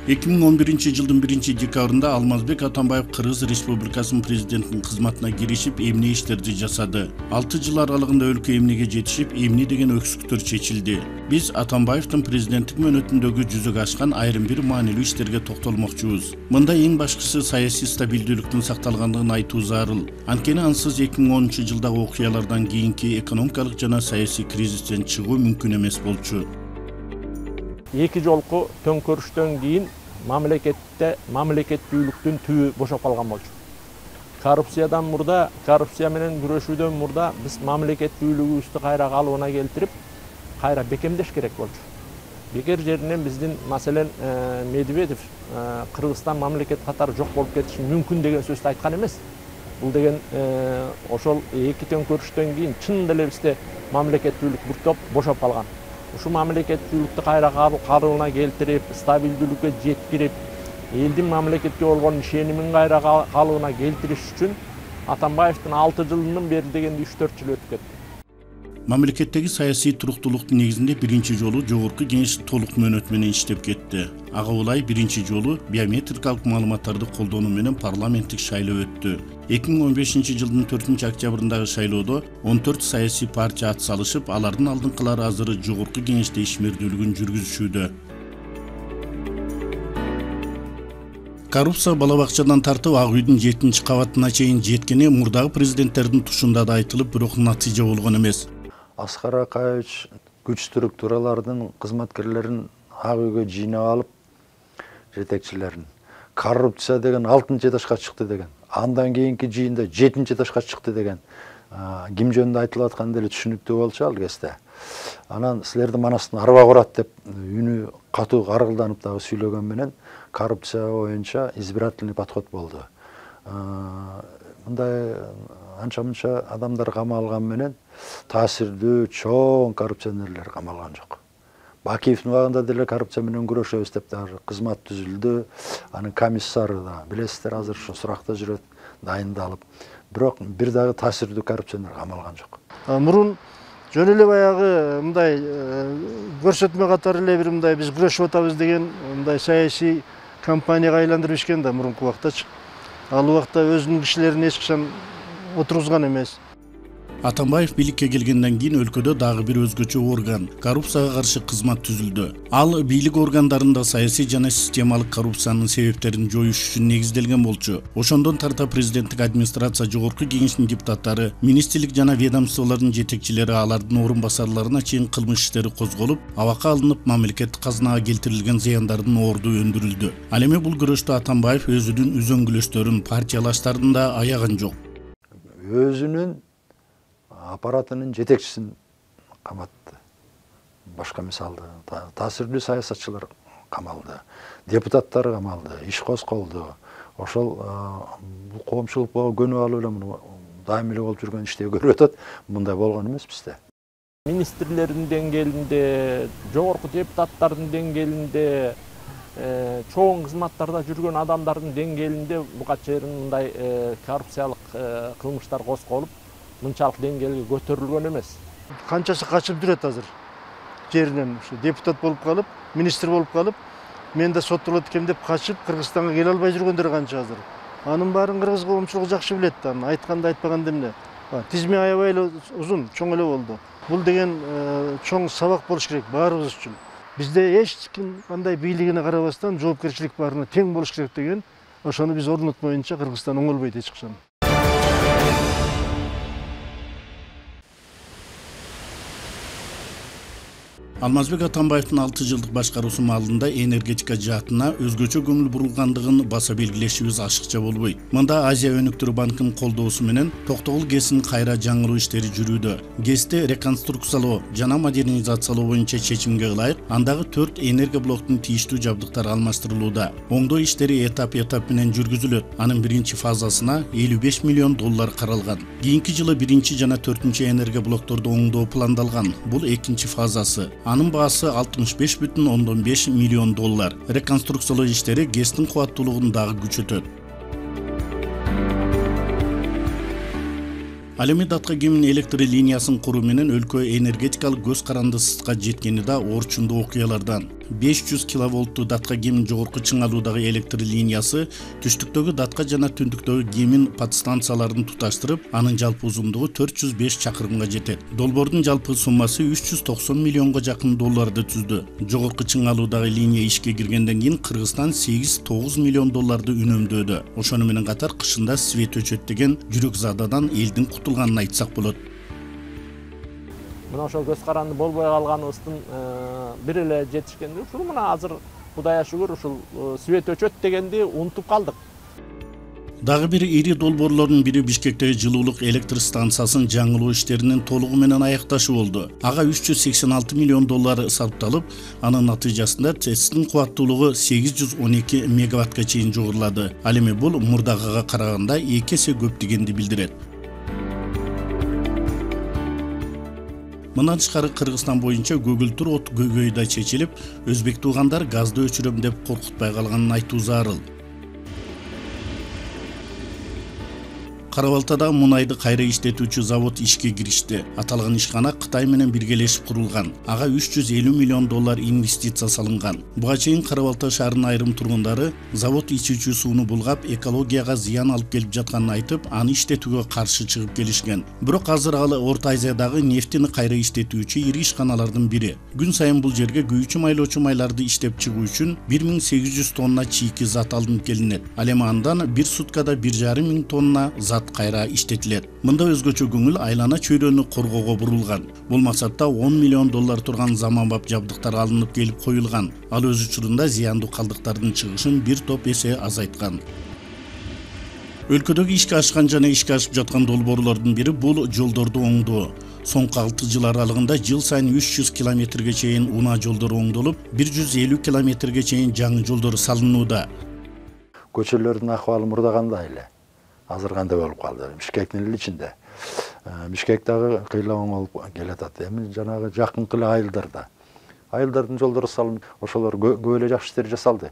2011-жылдын 1-декабрында Алмазбек Атамбаев Кыргыз Республикасынын президентинин кызматына киришип, эмне иштерди жасады. 6 жыл аралыгында өлкө эмнеге жетишип, эмне деген өксүктөр чечилди. Биз Атамбаевдин президенттик мөөнөтүндөгү жүзөгө ашкан айрым бир маанилүү иштерге токтолмокчубуз. Мында эң башкысы саясий стабилдүүлүктүн сакталгандыгын айтуу зарыл. Анткени ансыз 2010-жылдагы окуялардан кийинки экономикалык жана саясий кризистен чыгуу мүмкүн эмес болчу. 2 жолку төңкөрүштөн кийин мамлекеттүүлүктүн түбү бошоп калган болчу. Коррупциядан мурда, коррупция менен күрөшүүдөн мурда биз мамлекеттүүлүгүбүздү кайра калыбына келтирип, кайра бекемдеш керек болчу. Бекер жеринен биздин маселен Медведев Кыргызстан мамлекет катары жок болуп кетиши мүмкүн деген сөздү айткан эмес. Бул деген ошол 2 төңкөрүштөн кийин чын деле бизде мамлекеттүүлүк буктоп бошоп калган. Ушу мамлекеттүүлүктү кайра калыбына келтирип, стабилдүүлүккө жеткирип, элдин мамлекетке болгон ишенимин кайра калыбына келтириш үчүн Атамбаевдин 6 жылынын бери дегенде 3-4 жыл өтүп кетти. Мамлекеттеги саясий туруктуулуктун негизинде биринчи жолу жогорку кеңеш толук мөөнөт менен иштеп кетти. Ага ылай биринчи жолу биометрикалык маалыматтарды колдонуу менен парламенттик шайлоо өттү. 2015-жылдын 4-октябрындагы шайлоодо 14 саясий партия ат салышып, алардын алдыңкылары азыр жогорку кеңеште ишмердүүлүгүн жүргүзүшүүдө. Коррупция бала бакчадан тартып Ак үйдүн 7-кабатына чейин жеткени мурдагы президенттердин тушунда да айтылып, бирок натыйжа болгон эмес. Аскар Акаевич күч структуралардын кызматкерлерин Ак үйгө жыйнап алып, жетекчилерин коррупция деген 6 этажга чыкты деген. Андан кийинки жыйында 7 этажга чыкты деген. Ким жөнүндө айтылып атканы деле түшүнүктүү болчу ал кезде. Анан силердин манастын арба курат деп үнү катуу каргылданып дагы сүйлөгөн менен коррупция боюнча избирательный подход болду. Мындай анча-мынча адамдар камалган менен таасирдүү чоң коррупционерлер камалган жок. Бакиевдин убагында деле коррупция менен күрөшөбүз деп дагы кызмат түзүлдү. Анын комиссары да билесиздер азыр ушу суракта жүрөт, дайындалып. Бирок бир дагы таасирдүү коррупционер камалган жок. Мурун жөн эле баягы мындай көрсөтмө катары эле бир мындай биз күрөшүп атабыз деген мындай саясий компанияга айландырып ишкен да мурунку убактачы. Ал убакта өзүнүн кишилерин эч качан отургузган эмес. Атамбаев бийликке келгенден кийин өлкөдө дагы бир өзгөчө орган — коррупцияга каршы кызмат түзүлдү. Ал бийлик органдарында саясий жана системалык коррупциянын себептерин жоюш үчүн негизделген болчу. Ошондон тарта президенттик администрация, жогорку кеңештин депутаттары, министрлик жана ведомстволордун жетекчилери, алардын орун басарларына чейин кылмыш иштери козголуп, абакка алынып, мамлекеттик казынага келтирилген зыяндардын орду өндүрүлдү. Ал эми бул күрөштө Атамбаев өзүнүн үзөңгүлөштөрүн, партиялаштарын да аяган жок. Өзүнүн аппаратынын жетекчисин каматты. Башка мисалды таасирдүү саясатчылар камалды, депутаттар камалды, иш козголду. Ошол бул коомчулукка көнүп алып эле муну дайыма эле болуп жүргөн ишти көрүп атат. Мындай болгон эмес бизде. Министрлердин деңгээлинде, жогорку депутаттардын деңгээлинде, чоң кызматтарда жүргөн адамдардын деңгээлинде буга чейин мындай коррупциялык кылмыштар козголуп, мынчалык деңгээлге көтөрүлгөн эмес. Канчасы качып жүрөт азыр жеринен, ушу депутат болуп калып, министр болуп калып, мен да соттолот экен деп качып Кыргызстанга келе албай жүргөндөр канча азыр. Анын баарын кыргыз коомчулугу жакшы билет да, айтканды айтпаганда эмне. Тизме аябай эле узун, чоң эле болду. Бул деген чоң сабак болуш керек баарыбыз үчүн. Бизде эч ким кандай бийлигине карабастан жоопкерчилик баарына тең болуш керек деген, ошону биз орнотмоюнча Кыргызстан оңолбойт эч качан. Алмазбек Атамбаевдин 6 жылдык башкаруусу маалында энергетика жаатына өзгөчө көңүл бурулгандыгын баса белгилешибиз ашыкча болбойт. Мында Азия өнүктүрүү банкынын колдоосу менен Токтогул ГЭСин кайра жаңыруу иштери жүрүүдө. ГЭСти реконструкциялоо жана модернизациялоо боюнча чечимге ылайык андагы 4 энергоблоктун тийиштүү жабдыктары алмаштырылууда. Оңдоо иштери этап менен жүргүзүлөт. Анын биринчи фазасына $55 миллион каралган. Кийинки жылы 1 жана 4 энергоблокторду оңдоо пландалган. Бул экинчи фазасы. Анын баасы $65,5 миллион. Реконструкциялоо иштери ГЭСтин кубаттуулугун дагы күчөтөт. Ал эми датка кемин электр линиясын куруу менен өлкө энергетикалык көз карандысызга жеткени да орчундуу окуялардан. 500 киловолттуу датка кемин жогорку чыңалуудагы электр линиясы түштүктөгү датка жана түндүктөгү кемин подстанцияларын туташтырып, анын жалпы узундугу 405 чакырымга жетет. Долбоордун жалпы суммасы 390 миллионго жакын долларды түздү. Жогорку чыңалуудагы линия ишке киргенден кийин Кыргызстан 8-9 миллион долларды үнөмдөөдө. Ошону менен катар кышында свет өчөт деген жүрөк зададан элдин кутулганын айтсак болот. Мына ошол көз каранды болбой калганыбыздын бир эле жетишкендиги ушул мына азыр Кудайга шүгүр ушул свет өчөт дегенди унутуп калдык. Дагы бир ири долбоорлордун бири Бишкектеги жылуулук электр станциясын жаңылоо иштеринин толугу менен аякташы болду. Ага 386 миллион доллар сарпталып, анын натыйжасында ТЭЦтин кубаттуулугу 812 мегаваттка чейин жогорулады. Ал эми бул мурдагыга караганда 2 эсе көп дегенди билдирет. Мындан тышкары Кыргызстан боюнча көгүлтүр от көйгөйдө чечилип, өзбек туугандар газды өчүрөм деп коркутпай калганын айтуу зарыл. Кара-Балтада мунайды кайра иштетүүчү завод ишке киришти. Аталган ишкана Кытай менен биргелешип курулган. Ага 350 миллион доллар инвестиция салынган. Буга чейин Кара-Балта шаарынын айрым тургундары завод ичүүчү сууну булгап, экологияга зыян алып келип жатканын айтып, аны иштетүүгө каршы чыгып келишкен. Бирок азыр ал Орто Азиядагы нефтини кайра иштетүүчү ири ишканалардын бири. Күн сайын бул жерге күйүүчү майлоочу майларды иштеп чыгуу үчүн 1800 тонна чийки зат алынып келинет. Ал эми андан бир суткада 1,5 тонна зат кайра иштетилет. Мында өзгөчө көңүл айлана чөйрөнү коргоого бурулган. Бул максатта 10 миллион доллар турган заманбап жабдыктар алынып келип коюлган. Ал өз учурунда зыяндуу калдыктардын чыгышын бир топ эсе азайткан. Өлкөдөгү ишке ашкан жана ишке ашып жаткан долбоорлордун бири бул жолдорду оңдоо. Соңку 6 жыл аралыгында жыл сайын 300 километрге чейин унаа жолдор оңдолуп, 150 километрге чейин жаңы жолдор салынууда. Көчөлөрдүн акыбалы мурдагандай эле. Азыр кандай болуп калды? Бишкектин эле ичинде. Бишкек дагы кыйлаган болуп келатат. Эми жанагы жакынкы эле айылдарда. Айылдардын жолдору салынып, ошолор көп эле жакшы иштер жасалды.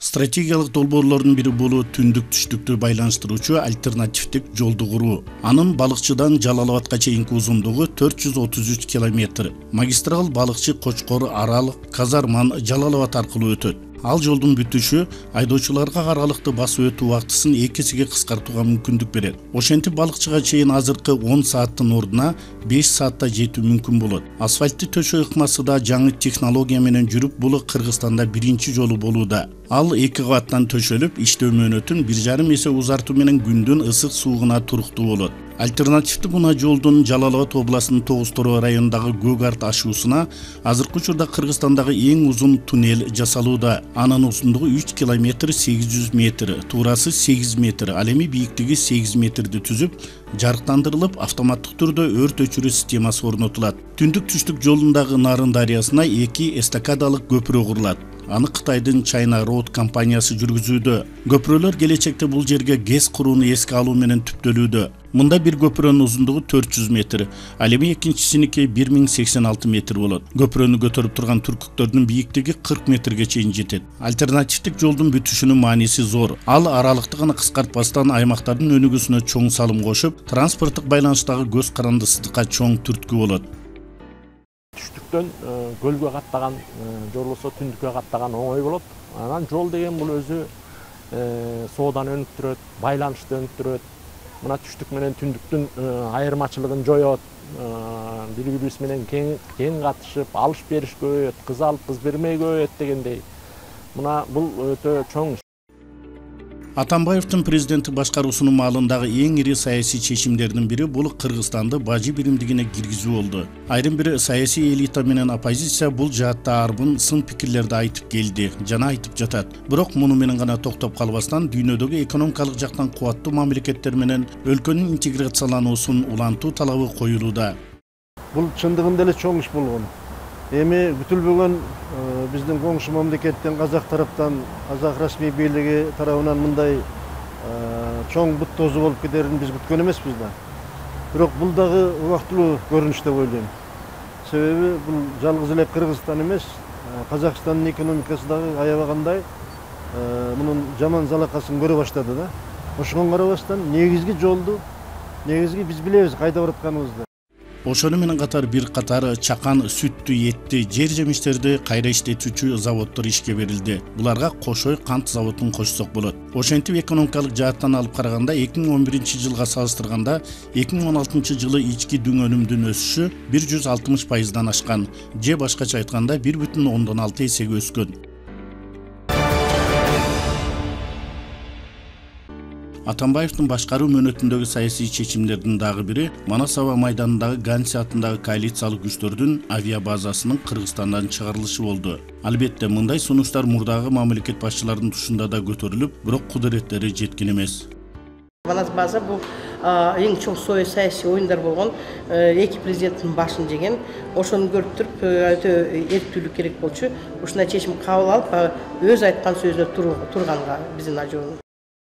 Стратегиялык долбоорлордун бири бул түндүк-түштүктү байланыштыруучу альтернативдик жолду куруу. Анын Балыкчыдан Жалал-Абадка чейинки узундугу 433 километр. Магистрал Балыкчы, Кочкор, Арал, Казарман, Жалал-Абад аркылуу өтөт. Ал жолдун бүтүшү айдоочуларга аралыкты басып өтүү убактысын 2 эсеге кыскартууга мүмкүндүк берет. Ошентип Балыкчыга чейин азыркы 10 сааттын ордуна 5 саатта жетүү мүмкүн болот. Асфальтты төшөө ыкмасы да жаңы технология менен жүрүп, бул Кыргызстанда биринчи жолу болууда. Ал 2 кабаттан төшөлүп, иштөө мөөнөтүн 1,5 эсе узартуу менен күндүн ысык суугуна туруктуу болот. Альтернативдүү мына жолдун Жалал-Абад областынын Тогуз Тороо районундагы Көк Арт ашуусуна азыркы учурда Кыргызстандагы эң узун туннель жасалууда. Анын узундугу 3 километр 800 метр, туурасы 8 метр, ал эми бийиктиги 8 метрди түзүп, жарыктандырылып, автоматтык түрдө өрт өчүрүү системасы орнотулат. Түндүк-түштүк жолундагы Нарын дарыясына 2 эстакадалык көпүрө курулат. Аны Кытайдын China Road компаниясы жүргүзүүдө. Көпүрөлөр келечекте бул жерге ГЭС курууну эске алуу менен түптөлүүдө. Мында бир көпүрөнүн узундугу 400 метр, ал эми экинчисиники 1086 метр болот. Көпүрөнү көтөрүп турган түркүктөрдүн бийиктиги 40 метрге чейин жетет. Альтернативдик жолдун бүтүшүнүн мааниси зор. Ал аралыкты гана кыскартпастан аймактардын өнүгүүсүнө чоң салым кошуп, транспорттук байланыштагы көз карандысыздыкка чоң түрткү болот. Түштүктөн көлгө каттаган же болбосо түндүккө каттаган оңой болот. Анан жол деген бул өзү соодан өнүктүрөт, байланышты өнүктүрөт. Мына түштүк менен түндүктүн айырмачылыгын жоёт. Бири-бирибиз менен кең катышып, алыш бериш көбөйөт, кыз алып кыз бермей көбөйөт дегендей. Мына бул өтө чоң. Атамбаевдин президенттик башкаруусунун маалындагы эң ири саясий чечимдердин бири бул Кыргызстанды бажы биримдигине киргизүү болду. Айрым бир саясий элита менен оппозиция бул жаатта арбын сын пикирлерди айтып келди жана айтып жатат. Бирок муну менен гана токтоп калбастан дүйнөдөгү экономикалык жактан кубаттуу мамлекеттер менен өлкөнүн интеграциялануусун улантуу талабы коюлууда. Бул чындыгында эле чоң иш болгон. Эми күтүлбөгөн биздин коңшу мамлекеттен, Казак тараптан, Казак расмий бийлиги тарабынан мындай чоң бут тозу болуп кетерин биз күткөн эмеспиз да. Бирок бул дагы убактылуу көрүнүш деп ойлойм. Себеби бул жалгыз эле Кыргызстан эмес, Казакстандын экономикасы дагы аябагандай мунун жаман залакасын көрө баштады да. Ошого карабастан негизги жолду, негизги биз билебиз кайда баратканыбызды. Ошону менен катар бир катар чакан, сүттү, этти, жер жемиштерди кайра иштетүүчү заводдор ишке берилди. Буларга Кошой кант заводун кошсок болот. Ошентип экономикалык жааттан алып караганда 2011-жылга салыштырганда 2016-жылы ички дүң өнүмдүн өсүшү 160%дан ашкан, же башкача айтканда 1,6 эсеге өскөн. Атамбаевдин башкаруу мөөнөтүндөгү саясий чечимдердин дагы бири Манас аба майданындагы Ганси атындагы коалициялык күчтөрдүн авиабазасынын Кыргызстандан чыгарылышы болду. Албетте, мындай сунуштар мурдагы мамлекет башчыларынын тушунда да көтөрүлүп, бирок кудуреттери жеткен эмес. Манас база бул эң чоң саясий оюндар болгон, эки президенттин башын жеген. Ошону көрүп туруп өтө эрктүүлүк керек болчу. Ушундай чечим кабыл алып, өз айткан сөзүнө турганга биздин ажообуз.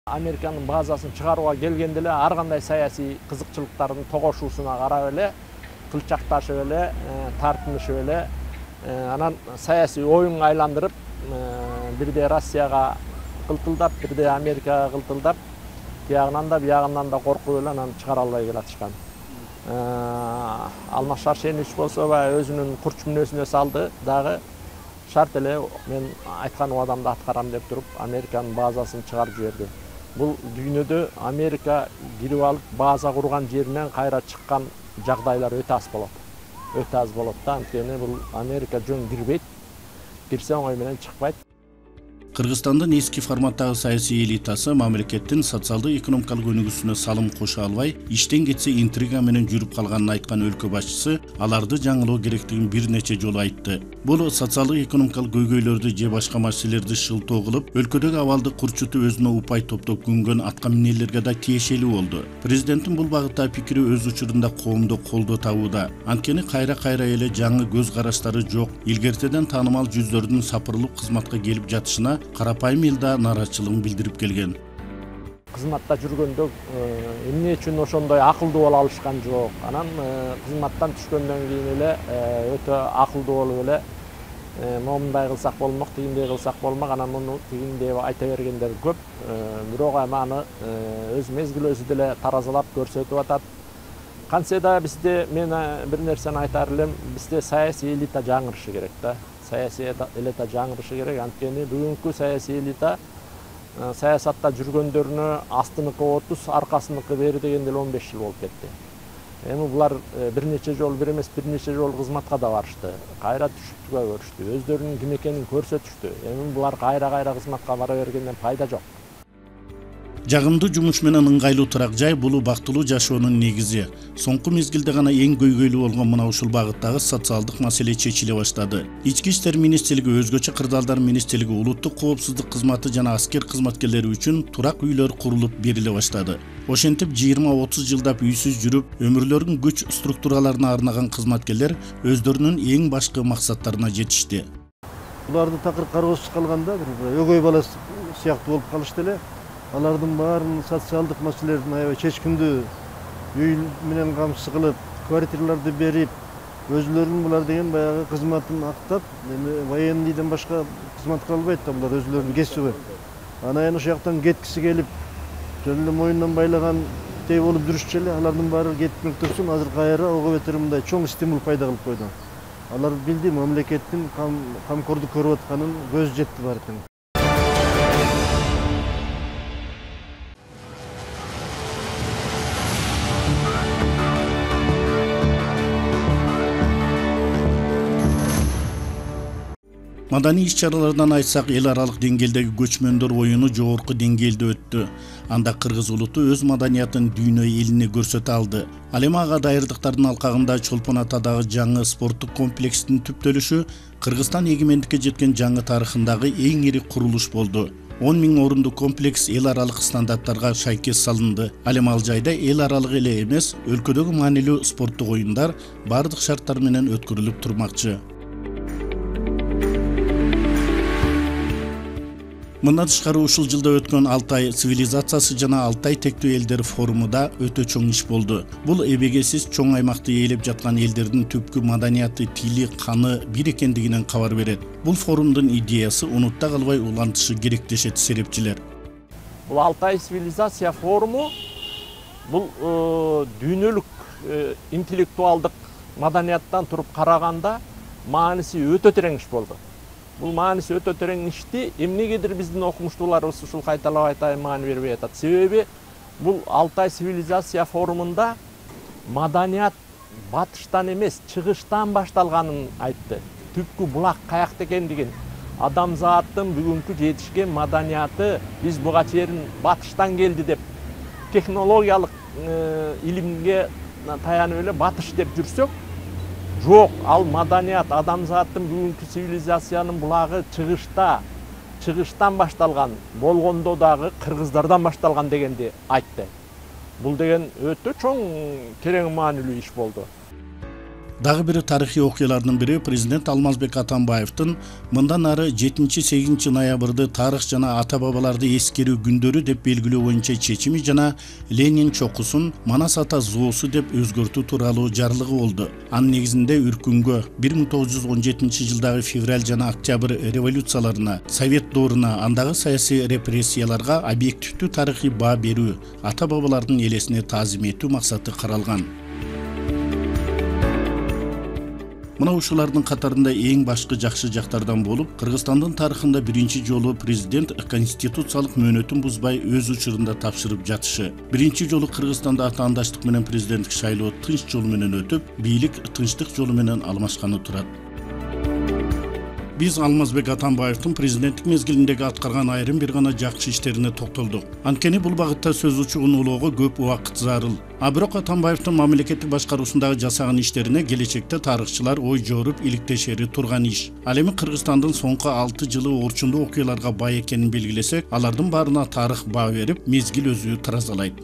Американын базасын чыгарууга келгенде эле ар кандай саясий кызыкчылыктардын тогошуусуна карап эле кылчакташып эле, тартынышып эле, анан саясий оюнга айландырып, бирде Россияга кылтылдап, бирде Америкага кылтылдап, биягынан да биягынан да коркуп эле анан чыгара албай келатышкан. Алмаз Шаршенович болсо өзүнүн курч мүнөзүнө салды дагы. Шарт эле мен айткан убадамды аткарам деп туруп, Американын базасын чыгарып жиберди. Бул дүйнөдө Америка кирип алып база курган жеринен кайра чыккан жагдайлар өтө аз болот. Өтө аз болот да, анткени бул Америка жөн кирбейт, кирсе оңой менен чыкпайт. Кыргызстандын эски форматтагы саясий элитасы мамлекеттин социалдык экономикалык өнүгүүсүнө салым кошо албай, иштен кетсе интрига менен жүрүп калганын айткан өлкө башчысы аларды жаңылоо керектигин бир нече жолу айтты. Бул социалдык экономикалык көйгөйлөрдү же башка маселелерди шылтоо кылып, өлкөдөгү абалды курчутуп өзүнө упай топтоп күнгөн атка минерлерге да тиешелүү болду. Президенттин бул багыттагы пикири өз учурунда коомдо колдоо табууда. Анткени кайра эле жаңы көз караштары жок, илгертеден таанымал жүздөрдүн сапырылып кызматка келип жатышына карапайым эл да нааразычылыгын билдирип келген. Кызматта жүргөндө эмне үчүн ошондой акылдуу боло алышкан жок. Анан кызматтан түшкөндөн кийин эле өтө акылдуу болуп эле момундай кылсак болмок, тигиндей кылсак болмок, анан муну тигиндей айта бергендер көп. Бирок аны өз мезгил өзү деле таразалап көрсөтүп атат. Кантсе да бизде, мен бир нерсени айтар элем, бизде саясий элита жаңырышы керек да. Саясий элита жаңырышы керек. Анткени бүгүнкү саясий элита саясатта жүргөндөрүнө астыныкы 30, аркасыныкы бери дегенде 15 жыл болуп кетти. Эми булар бир нече жолу, бир эмес бир нече жолу кызматка да барышты. Кайра түшүптүгө көрүштү. Өздөрүнүн ким экенин көрсөтүштү. Эми булар кайра кызматка бара бергенден пайда жок. Жагымдуу жумуш менен ыңгайлуу турак жай бул бактылуу жашоонун негизи. Соңку мезгилде гана эң көйгөйлүү болгон мына ушул багыттагы социалдык маселе чечиле баштады. Ички иштер министрлиги, өзгөчө кырдаалдар министрлиги улуттук коопсуздук кызматы жана аскер кызматкерлери үчүн турак үйлөр курулуп бериле баштады. Ошентип 20-30 жылдап үйсүз жүрүп, өмүрлөрүн күч структураларына арнаган кызматкерлер өздөрүнүн эң башкы максаттарына жетишти. Буларды такыр кароосуз калганда бир өгөй бала сыяктуу болуп калышты эле. Алардын баарын социалдык маселелердин аябай чечкиндүү үй менен камсыз кылып, квартираларды берип, өзүлөрүнүн булар деген баягы кызматын актап, эми военныйден башка кызмат кыла албайт да, булар өзүлөрүнүн кесиби. Анан ошол жактан кеткиси келип, жөн эле моюндан байлагандай болуп жүрүшчү эле, алардын баары кетмек турсун, азыр кайра ого бетер мындай чоң стимул пайда кылып койду. Алар билди, мамлекеттин камкордук көрүп атканын көз жетти бар экен. Madani иш-чаралардан айтсак, эл аралык деңгээлдеги көчмөндөр оюну жогорку деңгээлде өттү. Анда кыргыз улуту өз маданиятын дүйнө элине көрсөтө алды. Ал эми ага дайырдыктардын алкагында Чолпон Атадагы жаңы спорттук комплекстин түптөлүшү Кыргызстан эгемендикке жеткен жаңы тарыхындагы эң ири курулуш болду. 10 000 орундуу комплекс эл аралык стандарттарга шайкес салынды. Ал эми ал жайда эл аралык эле эмес, өлкөдөгү маанилүү спорттук оюндар бардык шарттар менен өткөрүлүп турмакчы. Мындан тышкары ушул жылда өткөн Алтай цивилизациясы жана Алтай тектүү элдер форумуда өтө чоң иш болду. Бул эбегесиз чоң аймакты ээлеп жаткан элдердин түпкү маданияты, тили, каны бир экендигинен кабар берет. Бул форумдун идеясы унутта калбай улантышы керек дешет серепчилер. Бул Алтай цивилизация форуму бул дүйнөлүк интеллектуалдык маданияттан туруп караганда мааниси өтө терең иш болду. Бул мааниси өтө терең ишти эмнегедир биздин окумуштууларыбыз ушул кайталап айтайын маани бербей атат. Себеби бул Алтай цивилизация форумунда маданият батыштан эмес, чыгыштан башталганын айтты. Түпкү булак каякта экендигин, адамзаттын бүгүнкү жетишкен маданияты биз буга чейин батыштан келди деп технологиялык илимге таянып эле батыш деп жүрсөк, жок, ал маданият адамзаттын бүгүнкү цивилизациянын булагы чыгыштан башталган, болгондо дагы кыргыздардан башталган дегенди айтты. Бул деген өтө чоң терең маанилүү иш болду. Дагы бир тарыхый окуялардын бири президент Алмазбек Атамбаевдин мындан ары 7-8 ноябрды тарых жана ата бабаларды эскерүү күндөрү деп белгилөө боюнча чечими жана Ленин чокусун Манас ата зоосу деп өзгөртүү тууралуу жарлыгы болду. Анын негизинде үркүнгө 1917 жылдагы февраль жана октябрь революцияларына, совет дооруна, андагы саясий репрессияларга объективдүү тарыхый баа берүү, ата бабалардын элесине таазим этүү максаты каралган. Мына ушулардын катарында эң башкы жакшы жактардан болуп, Кыргызстандын тарыхында биринчи жолу президент конституциялык мөөнөтүн бузбай өз учурунда тапшырып жатышы. Биринчи жолу Кыргызстанда атаандачтык менен президенттик шайлоо тынч жол менен өтүп, бийлик тынчтык жолу менен алмашканы турат. Биз Алмазбек Атамбаевдин президенттик мезгилиндеги аткарган айрым бир гана жакшы иштерине токтолдук. Анткени бул багытта сөз учугун улоого көп убакыт зарыл. А бирок Атамбаевдин мамлекеттик башкаруусундагы жасаган иштерине келечекте тарыхчылар ой жоруп иликтешери турган иш. Ал эми Кыргызстандын соңку 6 жылы орчундуу окуяларга бай экенин белгилесек, алардын баарына тарых баа берип, мезгил өзү таразалайт.